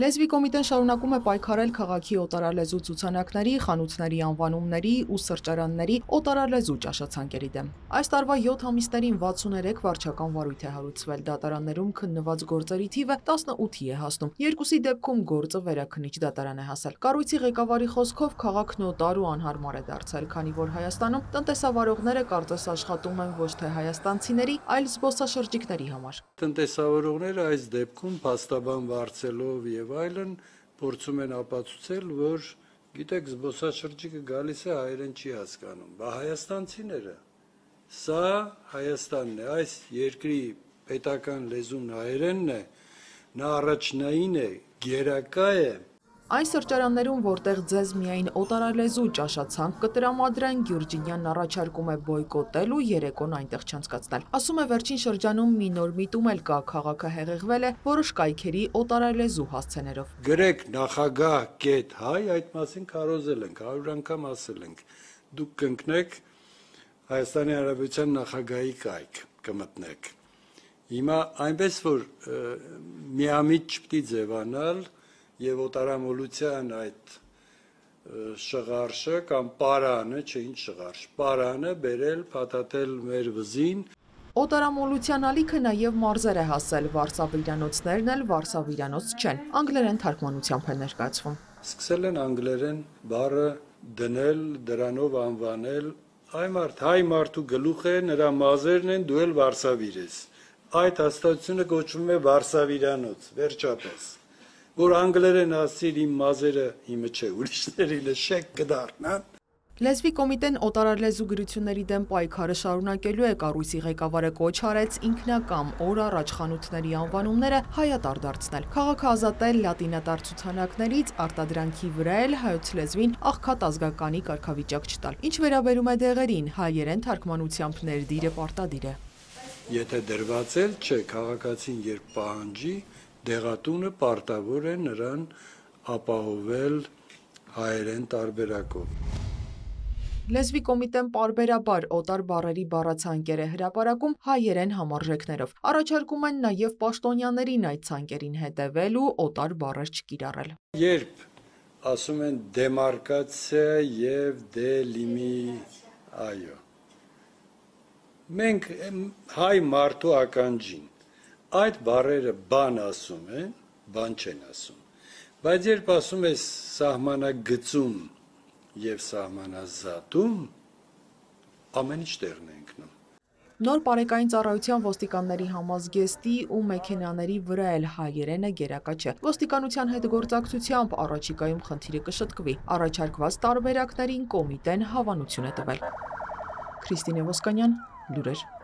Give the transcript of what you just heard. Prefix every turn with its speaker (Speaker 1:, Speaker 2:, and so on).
Speaker 1: Լեզվի կոմիտեն շարունակում է պայքարել քաղաքի օտարալեզու ցուցանակների, խանութների անվանումների ու սրճարանների օտարալեզու ճաշացանկերի դեմ։ Այս տարվա 7 ամիսներին 63 վարչական վարույթ է հարուցվել, դատարաններում քննված գործերի թիվը 18-ի է հասնում։ Երկուսի դեպքում գործը վերաքննիչ դատարան է հասել։ Կառույցի ղեկավարի խոսքով քաղաքն օտար ու անհարմար է դարձել, քանի որ Հայաստանում տնտեսավարողները կարծես աշխատում են ոչ թե հայաստանցիների, այլ զբոսաշրջիկների համար։
Speaker 2: Տնտեսավարողները այս դեպքում փաստաբան վարձելով եւ այլն փորձում են ապացուցել, որ գիտեք, զբոսաշրջիկը գալիս է հայերեն չի հասկանում, բա հայաստանցիները, սա Հայաստանն է, այս երկրի պետական լեզուն հայերենն է, նա առաջնային է, գերակա է։
Speaker 1: Այս սրճարաններում, որտեղ ձեզ միայն օտարալեզու ճաշացանկ կտրամադրեն, Գյուրջինյանն առաջարկում է բոյկոտել ու երեկոն այնտեղ չանցկացնել։ Ասում է, վերջին շրջանում մի նոր միտում էլ կա, քաղաքը հեղեղվել է որոշ կայքերի օտարալեզու հասցեներով։
Speaker 2: Գրեք նախագահ.հայ, այդ մասին քարոզել ենք, 100 անգամ ասել ենք։ Դուք կընկնեք Հայաստանի Հանրապետության նախագահի կայք կմտնեք։ Հիմա այնպես որ միամիտ չպիտի ձևանալ եւ օտարամոլության այդ շղարշը կամ պարանը, չէ ինչ շղարշ, պարանը բերել փաթաթել մեր վզին։
Speaker 1: Օտարամոլության ալիքը նաև մարզեր է հասել, վարսավիրանոցներն էլ վարսավիրանոց չեն, անգլերեն թարգմանությամբ է ներկայացվում։
Speaker 2: Սկսել են անգլերեն բառը դնել, դրանով անվանել, հայ մարդու գլուխ է, նրա մազերն են, դու էլ վարսավիր ես։ Այդ հաստատությունը կոչվում է վարսավիրանոց, վերջապես։ Որ անգլերեն ասիր իմ մազերը իմը չէ, ուրիշներին շեք կդառնան։
Speaker 1: Լեզվի կոմիտեն օտարալեզու գրությունների դեմ պայքարը շարունակելու է, կառույցի ղեկավարը կոչ արեց ինքնակամ օր առաջ խանութների անվանումները հայատար դարձնել, քաղաքը ազատել լատինատար ցուցանակներից, արտադրանքի վրա էլ հայոց լեզվին աղքատ ազգականի կարգավիճակ չտալ։ Ինչ վերաբերում է դեղերին, հայերեն թարգմանությամբ ներդիրը պարտադիր է։
Speaker 2: Եթե դրված էլ չէ, քաղաքացին երբ պահանջի, դեղատունը պարտավոր է նրան ապահովել հայերեն տարբերակով։
Speaker 1: Լեզվի կոմիտեն պարբերաբար օտար բառերի բառացանկեր է հրապարակում հայերեն համարժեքներով։ Առաջարկում են նաև պաշտոնյաներին այդ ցանկերին հետևել ու օտար բառեր չկիրառել։
Speaker 2: Երբ ասում են դեմարկացիա եւ այո։ Մենք հայ մարդու ականջին այդ բառերը բան ասում են, բան չեն ասում։ Բայց երբ ասում ես սահմանագծում եւ սահմանազատում, ամեն ինչ տեղն է ընկնում։
Speaker 1: Նոր պարեկային ծառայության ոստիկանների համազգեստի ու մեքենաների վրա էլ հայերենը գերակա չէ։ Ոստիկանության հետ գործակցությամբ առաջիկայում խնդիրը կշտկվի։ Առաջարկված տարբերակներին կոմիտեն հավանություն է տվել։ Քրիստինե Ոսկանյան, լուրեր։